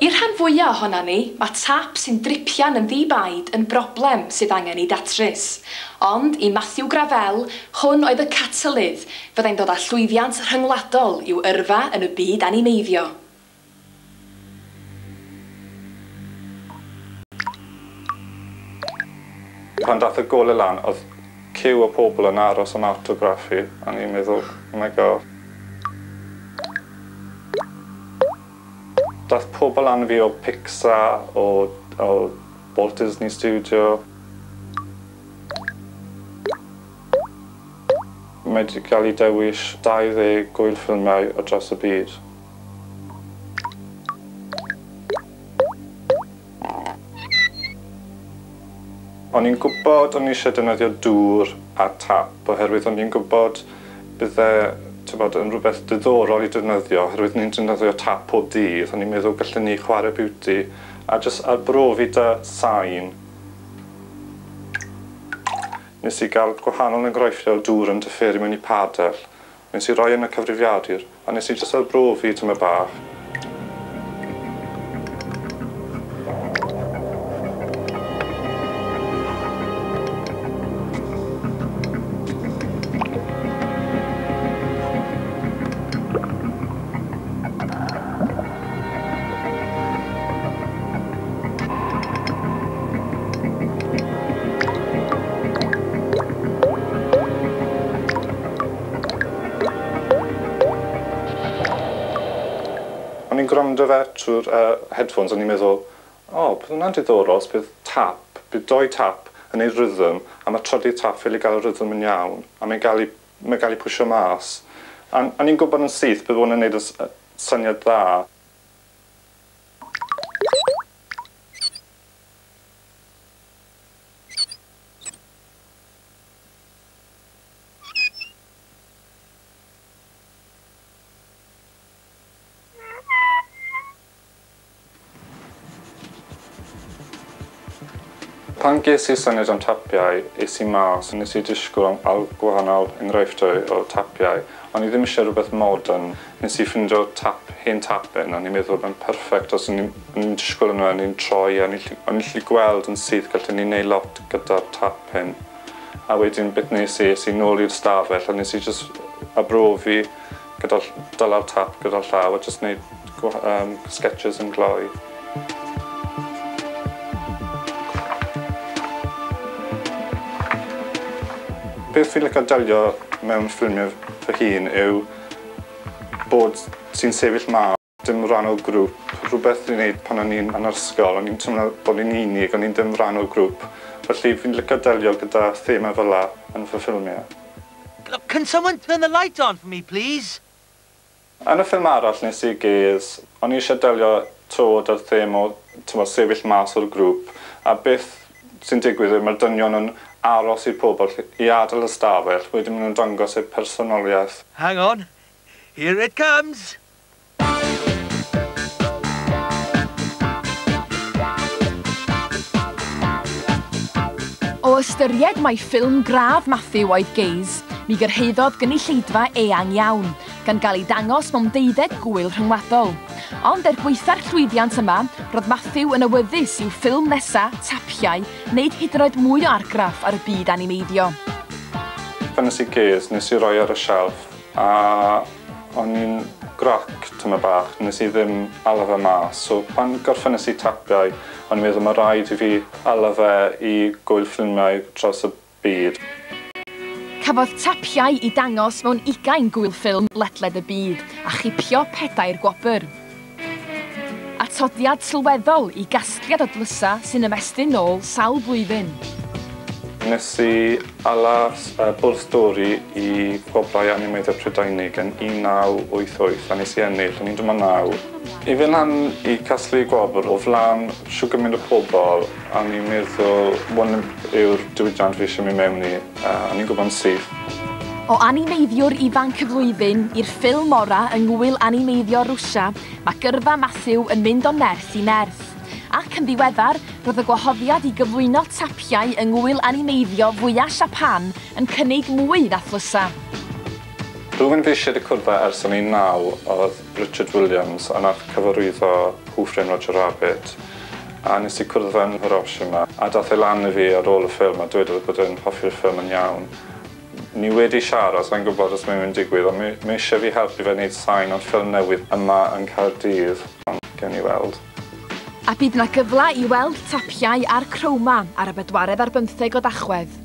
I'r rhan fwyaf ohona ni, mae tap sy'n dripian yn ddi-baid yn broblem sydd angen ei datrys. Ond i Matthew Gravelle, hwn oedd y catalydd fyddai'n dod â llwyddiant rhyngwladol i'w yrfa yn y byd animeiddio. Pan dath y golau lan, oedd ciw o pobl yn aros am autograph fi, a ni'n meddwl, oh my god. Dath pobl lan fi o Pixar, o Walt Disney Studio. Mae wedi cael ei dewis 20 gwyl ffilmiau o dros y byd. O'n i'n gwybod o'n i eisiau defnyddio dŵr a tap, oherwydd o'n i'n gwybod bydde, t'bod, yn rhywbeth diddorol i defnyddio, oherwydd ni'n defnyddio tap pob dydd, o'n i'n meddwl gallen ni chwarae beauty a jyst arbrofi 'da sain. Nes i gael gwahanol enghreifftiau o dŵr yn diferu mewn i padell. Nes i roi yn y cyfrifiadur, a nes i jyst arbrofi tymed bach. O'n i'n gwrando fe trwy'r headphones, o'n i'n meddwl, o, bydd hwnna'n diddorol os bydd tap, bydd doi tap yn ei rhythm, a mae trydydd tap ffili gael y rhythm yn iawn, a mae'n gael ei pwysio mas. A o'n i'n gwybod yn syth bydd hwn yn neud y syniad dda. Pan ges i'r syniad am tapiau, es i mas, nes i disgwyl am gwahanol enghreifftiau o tapiau. O'n i ddim eisiau rhywbeth modern. Nes i ffindo tap, hen tap un, o'n i'n meddwl mae'n perfect os o'n i'n disgwyl yno, o'n i'n troi, o'n i'n gallu gweld yn syth gallen ni wneud lot gyda'r tap hyn. A wedyn beth nes i, es i nôl i'r stafell, a nes i jyst arbrofi gyda dyla'r tap gyda'r llaw a jyst wneud sketches yn gloi. Beth fi'n licio delio mewn ffilmiau fy hun yw bod ti'n sefyll mas, dim rhan o grŵp. Rhywbeth ni'n neud pan o'n i'n yn yr ysgol, o'n i'n teimlo bod ni'n unig, o'n i'n dim rhan o grŵp. Felly fi'n licio delio gyda thema fel 'na yn fy ffilmiau. Can someone turn the light on for me, please? Yn y ffilm arall nes i Gaze, o'n i eisiau delio 'to 'da'r thema o sefyll mas o'r grŵp, a beth sy'n digwydd yw mae'r dynion yn aros i'r pobl i adael y stafell, wedyn maen nhw'n dangos eu personoliaeth. Hang on, here it comes! O ystyried mai ffilm gradd Matthew oedd Gaze, mi gyrhaeddodd gynulleidfa eang iawn, gan gael ei dangos mewn 12 gwyl rhyngwladol. Ond er gwaetha'r llwyddiant yma, roedd Matthew yn awyddus i'w ffilm nesa, Tapiau, wneud hyd yn oed mwy o argraff ar y byd animeiddio. Pan nes i Gaze, nes i roi ar y shelf, a o'n i'n grac tymed bach, nes i ddim ala fe mas. So pan gorffennes i Tapiau, o'n i'n meddwl mae rhaid i fi ala fe i gwyl ffilmiau dros y byd. Cafodd Tapiau ei dangos mewn 20 gwyl ffilm ledled y byd a chipio 4 gwobr. Atodiad sylweddol i gasgliad o dlysa sy'n ymestyn nôl sawl blwyddyn. Nes i ala bwrdd stori i Gwobrau Animeiddio Prydeinig yn 1988 a nes i ennill, o'n i'n 19. I fynd lan i casglu gwobr o flaen shwd gymaint o pobl, a o'n i'n meddwl hwn yw'r diwydiant fi eisiau mynd mewn i, a o'n i'n gwybod yn syth. O animeiddiwr ifanc y flwyddyn i'r ffilm ora yng Ngwyl Animeiddio Rwsia, mae gyrfa Matthew yn mynd o nerth i nerth. Ac yn ddiweddar, roedd y gwahoddiad i gyflwyno tapiau yng Ngwyl Animeiddio fwyaf Siapan yn cynnig mwy na thlysa. Rhywun fi eisiau wedi cwrdd â ers o'n i'n 9 oedd Richard Williams, a nath cyfarwyddo Who Framed Roger Rabbit. A nes i cwrdd fe yn Hiroshima, a dath e lan i fi ar ôl y ffilm a dweud bod e'n hoffi'r ffilm yn iawn. Ni wedi siarad, sa'n gwybod os mae'n mynd digwydd, ond mae eisiau fi helpu fe wneud sain o'r ffilm newydd yma yn Caerdydd, ond gewn ni weld. A bydd 'na gyfle i weld Tapiau ar Chroma ar y 24 o Dachwedd.